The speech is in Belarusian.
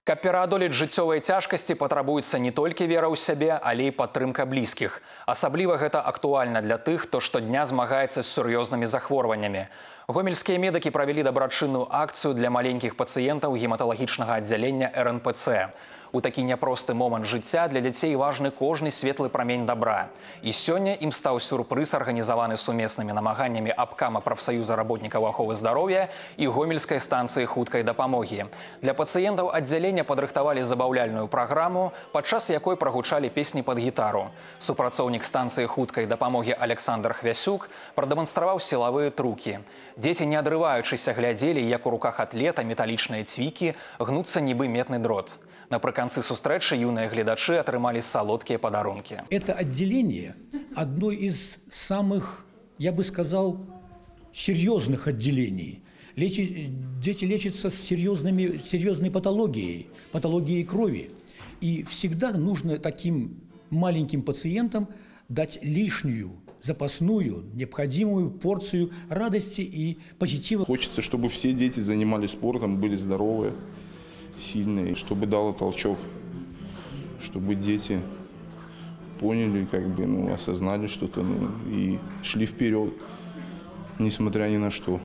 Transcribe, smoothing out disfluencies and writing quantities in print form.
Каб пераадолець жыццёвыя цяжкасці, патрабуецца не толькі вера ў сябе, але і падтрымка блізкіх. Асабліва гэта актуальна для тых, хто штодня змагаецца з сур'ёзнымі захворваннямі. Гомельскія медыкі правялі дабрачынную акцыю для маленькіх пацыентаў гематалагічнага аддзялення РНПЦ. У такі няпросты момант жыцця для дзяцей важны кожны светлы прамень добра. І сёння ім стаў сюрпрыз, арганізаваны сумеснымі намаганнямі абкама прафсаюза работнікаў аховы здароўя і гомельскай станцыі хуткай дапамогі. Для пацыентаў аддзялення падрыхтавалі забаўляльную праграму, падчас якой прагучалі песні пад гітару. Супрацоўнік станцыі хуткай дапамогі Александр Хвясюк прадэманстраваў сілавыя трукі. Дзеці, не адрываючыся, глядзелі, як у руках атлета металічныя цвікі гнуцца нібы медны дрот. Напрыканцы сустрэчы юныя гледачы атрымалі салодкія падарункі. Это отделение одно из самых, я бы сказал, серьезных отделений. Дети лечатся с серьезной патологией крови. И всегда нужно таким маленьким пациентам дать лишнюю, запасную, необходимую порцию радости и позитива. Хочется, чтобы все дети занимались спортом, были здоровые, сильные, чтобы дало толчок, чтобы дети поняли, осознали что-то, и шли вперед, несмотря ни на что.